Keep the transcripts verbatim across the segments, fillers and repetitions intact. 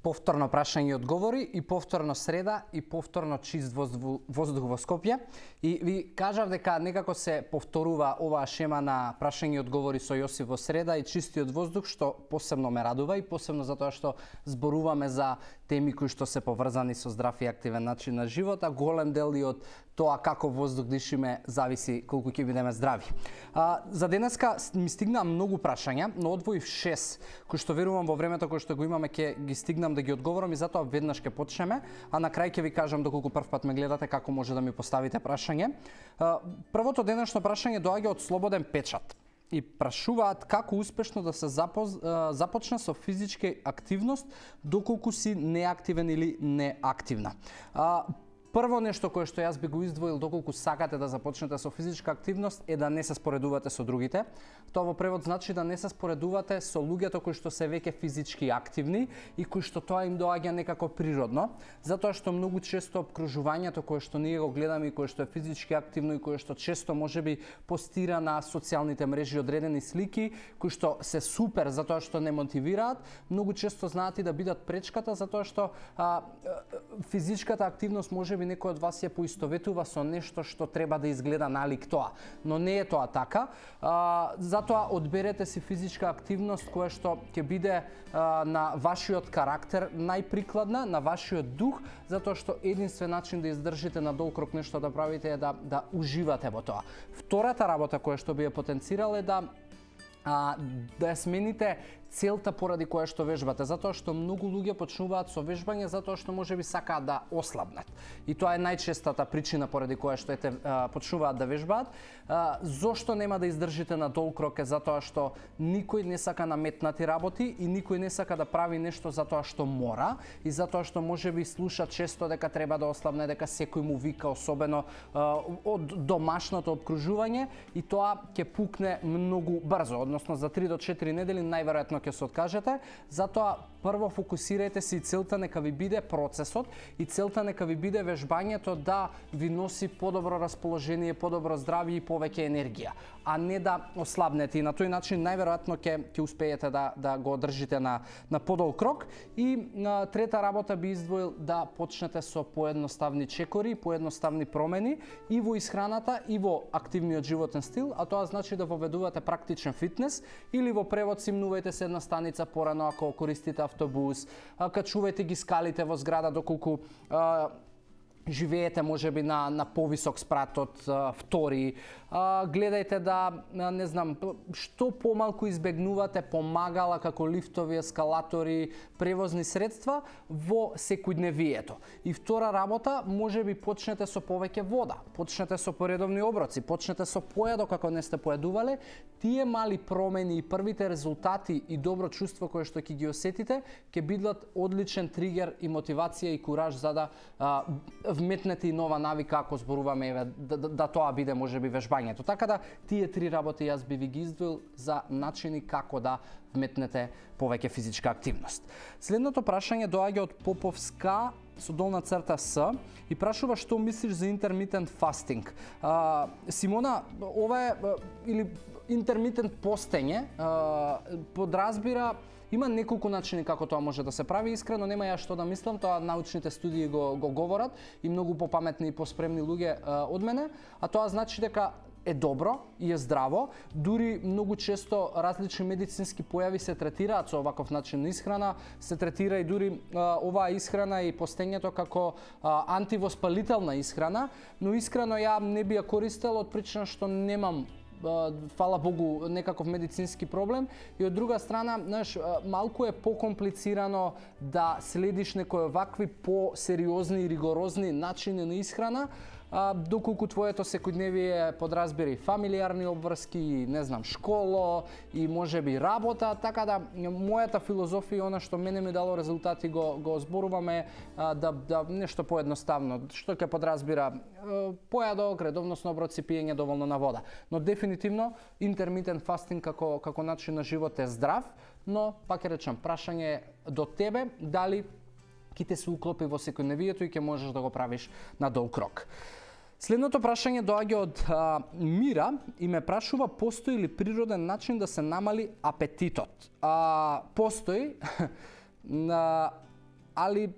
повторно прашање и одговори, и повторно среда, и повторно чист воздух, воздух во Скопје. И ви кажав дека некако се повторува оваа шема на прашање и одговори со Јосиф во среда и чистиот воздух, што посебно ме радува и посебно затоа што зборуваме за теми кои што се поврзани со здрав и активен начин на живот, а голем дел и од тоа како воздух дишиме зависи колку ќе бидеме здрави. А, за денеска ми стигнаа многу прашања, но одвоив шест, кои што верувам во времето кој што го имаме ќе ги стигнам да ги одговорам и затоа веднаш ќе почнеме, а на крај ќе ви кажам доколку прв пат ме гледате како може да ми поставите прашање. А, првото денешно прашање доаѓа од Слободен печат и прашуваат како успешно да се запоз, започне со физичка активност доколку си неактивен или неактивна. А, Прво нешто кое што јас би го издвоил доколку сакате да започнете со физичка активност е да не се споредувате со другите. Тоа во превод значи да не се споредувате со луѓето кои што се веќе физички активни и кои што тоа им доаѓа некако природно, затоа што многу често обкружувањето кое што ние го гледаме и кое што е физички активно и кое што често можеби постира на социјалните мрежи одредени слики кои што се супер затоа што не мотивираат, многу често знаат и да бидат пречката затоа што а, физичката активност можеби некој од вас ја поистоветува со нешто што треба да изгледа налик тоа, но не е тоа така. А, затоа одберете си физичка активност која што ќе биде а, на вашиот карактер најприкладна, на вашиот дух, затоа што единствен начин да издржите на долг рок нешто да правите е да да уживате во тоа. Втората работа која што би ја потенцирал е да а, да ја смените целта поради која што вежбате, затоа што многу луѓе почнуваат со вежбање затоа што можеби сакаат да ослабнат. И тоа е најчестата причина поради која што ете почнуваат да вежбаат. А, зошто нема да издржите на долг рок е затоа што никој не сака наметнати работи и никој не сака да прави нешто затоа што мора и затоа што можеби слуша често дека треба да ослабне, дека секој му вика, особено а, од домашното обкружување, и тоа ќе пукне многу брзо, односно за три до четири недели најверојатно ќе се откажете. Затоа прво фокусирајте се и целта нека ви биде процесот и целта нека ви биде вежбањето да ви носи подобро расположение, подобро здравје и повеќе енергија, а не да ослабнете, и на тој начин најверојатно ќе ќе успеете да да го одржите на на подолг рок. И на трета работа би издвоил да почнете со поедноставни чекори, поедноставни промени и во исхраната и во активниот животен стил, а тоа значи да воведувате практичен фитнес или во превод симнувајте се една станица порано ако користите автобус, качувајте ги скалите во зграда доколку а, живеете можеби на на повисок спрат од а, втори, а, гледајте да не знам што помалку избегнувате помагала како лифтови, ескалатори, превозни средства во секојдневието. И втора работа, можеби почнете со повеќе вода, почнете со поредовни оброци, почнете со појадок ако не сте поедувале. Тие мали промени и првите резултати и добро чувство кое што ќе ги осетите ќе бидат одличен тригер и мотивација и кураж за да а, вметнете и нова навика ако зборуваме еве да, да, да тоа биде можеби вежбањето. Така да тие три работи јас би ви ги издвоил за начини како да вметнете повеќе физичка активност. Следното прашање доаѓа од Поповска со долна црта С и прашува што мислиш за интермитент фастинг. А, Симона, ова е или интермитент постење а, подразбира има неколку начини како тоа може да се прави. Искрено нема ја што да мислам, тоа научните студии го, го говорат и многу попаметни и поспремни луѓе а, од мене, а тоа значи дека е добро и е здраво. Дури многу често различни медицински појави се третираат со оваков начин на исхрана, се третира и дури а, оваа исхрана и постењето како а, антивоспалителна исхрана, но искрено ја не би ја користел од причина што немам фала Богу некаков медицински проблем, и од друга страна, знаеш, малку е покомплицирано да следиш некои вакви по-сериозни и ригорозни начини на исхрана, а, доколку твоето секојдневие подразбира и фамилиарни обврски, и не знам, школо, и можеби работа, така да мојата филозофија, она што мене ми дало резултати, го, го зборуваме а, да, да нешто поедноставно, што ќе подразбира појадок, редовносно оброци, пиење доволно на вода. Но дефинитивно интермитент фастинг како како начин на живот е здрав, но пак ќе речам, прашање до тебе дали ќе те се уклопи во секојдневието и ќе можеш да го правиш на долг рок. Следното прашање доаѓа од а, Мира и ме прашува постои ли природен начин да се намали апетитот. А, постои. на али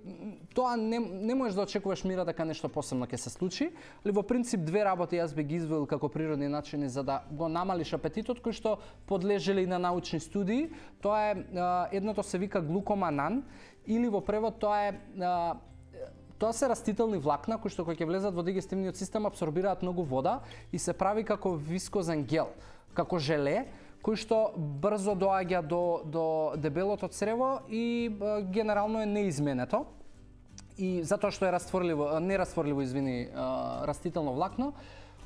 тоа не, не можеш да очекуваш мира дека нешто посебно ќе се случи, али во принцип две работи јас би ги извел како природни начини за да го намалиш апетитот, кои што подлежеле и на научни студии. Тоа е едното се вика глукоманан или во превод тоа е тоа се растителни влакна кои што кога ќе влезат во дигестивниот систем абсорбираат многу вода и се прави како вискозен гел, како желе, кој што брзо доаѓа до, до дебелото црево и а, генерално е неизменето. И затоа што е растворливо, нерастворливо, извини, а, растително влакно.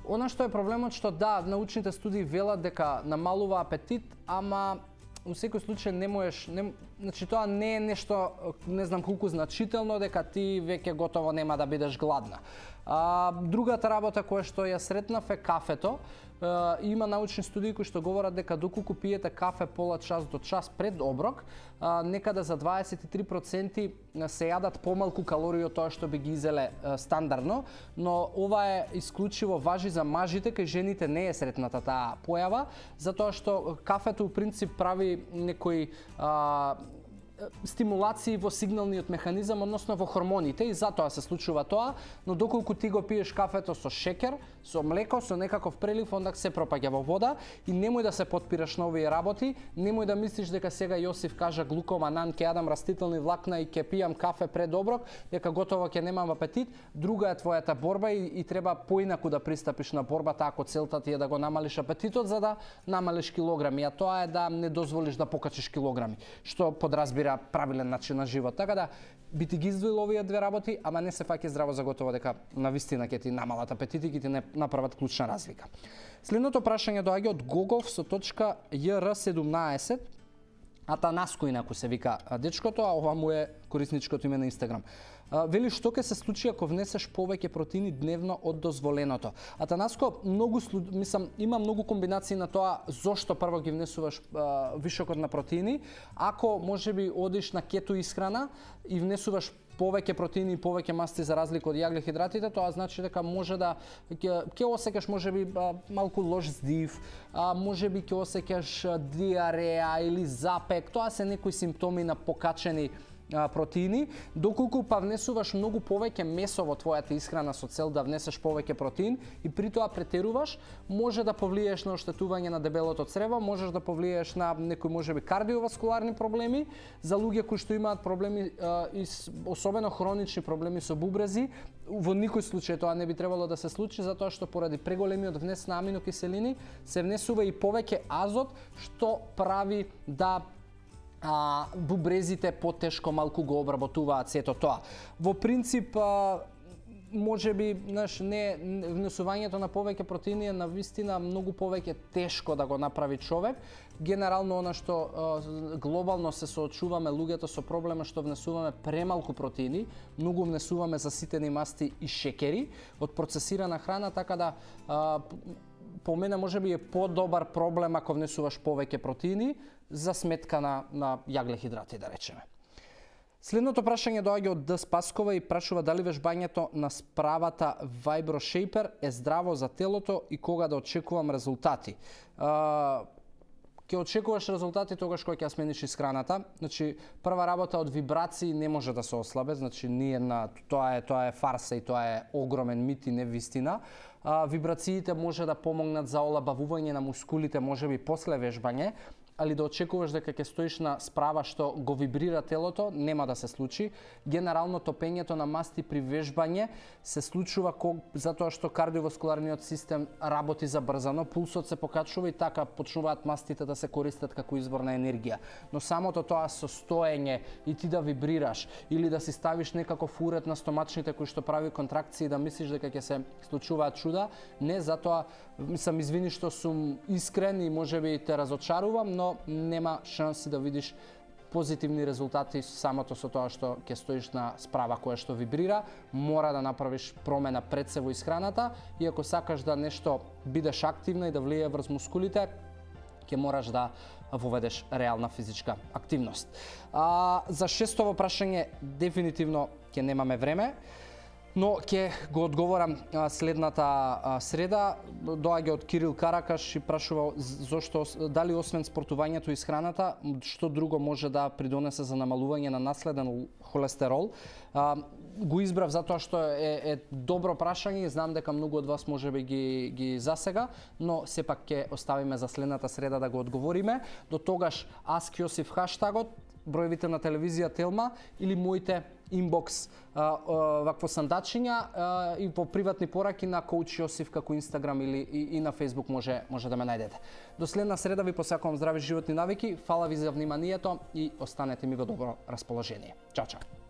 Она што е проблемот што да, научните студии велат дека намалува апетит, ама у секој случај не можеш, не, значи тоа не е нешто, не знам колку значително, дека ти веќе готово нема да бидеш гладна. А, другата работа која што ја сретнав е кафето. Uh, има научни студии кои што говорат дека доколку пиете кафе пола час до час пред оброк, uh, некаде за дваесет и три проценти се јадат помалку калории од тоа што би ги изеле uh, стандардно, но ова е исклучиво важи за мажите, кај жените не е сретната таа појава, затоа што кафето у принцип прави некои uh, стимулации во сигналниот механизам, односно во хормоните, и затоа се случува тоа, но доколку ти го пиеш кафето со шекер, со млеко, со некаков прелив, онда се пропаѓа во вода и немој да се потпираш на овие работи, немој да мислиш дека сега Јосиф кажа глукоманан, ќе јадам растителни влакна и ќе пијам кафе пред оброк, дека готово ќе немам апетит. Друга е твојата борба и, и треба поинаку да пристапиш на борбата ако целта ти е да го намалиш апетитот за да намалиш килограми, а тоа е да не дозволиш да покачиш килограми, што подразбира правилен начин на живот. Така да би ти ги издвоил овие две работи, ама не се фаќа здраво за готово дека навистина ќе ти намалат апетит и ќе ти не направат клучна разлика. Следното прашање доаѓа од Гогов со точка Ј Р седумнаесет, Атанаско инаку се вика дечкото, а ова му е корисничкото име на Инстаграм. Вели што ќе се случи ако внесеш повеќе протеини дневно од дозволеното. Атанаско, многу мислам има многу комбинации на тоа зошто прво ги внесуваш а, вишокот на протеини. Ако можеби одиш на кето исхрана и внесуваш повеќе протеини и повеќе масти за разлика од јаглехидратите, тоа значи дека може да ќе, ќе осеќаш можеби малку лош здив, а, можеби ќе осеќаш диареја или запек. Тоа се некои симптоми на покачени протеини, доколку па внесуваш многу повеќе месо во твојата исхрана со цел да внесеш повеќе протеин и при тоа претеруваш, може да повлиеш на оштетување на дебелото црево, можеш да повлиеш на некои можеби кардиоваскуларни проблеми, за луѓе кои што имаат проблеми и особено хронични проблеми со бубрези, во никој случај тоа не би требало да се случи затоа што поради преголемиот внес на аминокиселини се внесува и повеќе азот што прави да а, бубрезите потешко малку го обработуваат сето тоа. Во принцип, а, може би, знаеш, не внесувањето на повеќе протеини е навистина многу повеќе тешко да го направи човек. Генерално она што а, глобално се соочуваме луѓето со проблема што внесуваме премалку протеини, многу внесуваме заситени масти и шекери од процесирана храна, така да а, по мене можеби е подобар проблем ако внесуваш повеќе протеини за сметка на, на јаглехидрати, да речеме. Следното прашање доаѓа од Д. Спаскова и прашува дали вежбањето на справата Vibro-Shaper е здраво за телото и кога да очекувам резултати. А, ќе очекуваш резултати тогаш кога ќе смениш исхраната. Значи, прва работа од вибрации не може да се ослабе, значи ние на тоа е тоа е фарса и тоа е огромен мит и не вистина. А, вибрациите може да помогнат за олабавување на мускулите, можеби после вежбање, али да очекуваш дека ќе стоиш на справа што го вибрира телото, нема да се случи. Генерално топењето на масти при вежбање се случува затоа што кардиоваскуларниот систем работи забрзано, пулсот се покачува и така почнуваат мастите да се користат како извор на енергија. Но самото тоа состоење и ти да вибрираш или да си ставиш некаков уред на стомачните кои што прави контракции да мислиш дека ќе се случуваат чуда, не, затоа мислам, извини што сум искрен и можеби те разочарувам, но нема шанси да видиш позитивни резултати самото со тоа што ќе стоиш на справа која што вибрира. Мора да направиш промена пред се во исхраната и ако сакаш да нешто бидеш активна и да влијае врз мускулите, ќе мораш да воведеш реална физичка активност. А, за шестово прашање дефинитивно ќе немаме време. Но ќе го одговорам а, следната а, среда. Доаѓа од Кирил Каракаш и прашува зошто, дали освен спортувањето и исхраната, што друго може да придонесе за намалување на наследен холестерол. А, го избрав затоа што е, е добро прашање и знам дека многу од вас можеби ги, ги засега, но сепак ќе оставиме за следната среда да го одговориме. До тогаш Ask Јосиф хаштагот, броевите на телевизија Телма или моите инбокс а, а, вакво сандачиња а, и по приватни пораки на Коуч Јосиф како Инстаграм или и, и на Фејсбук може може да ме најдете. До следна среда ви посакувам здрави животни навики. Фала ви за вниманието и останете ми во добро расположение. Чао, чао.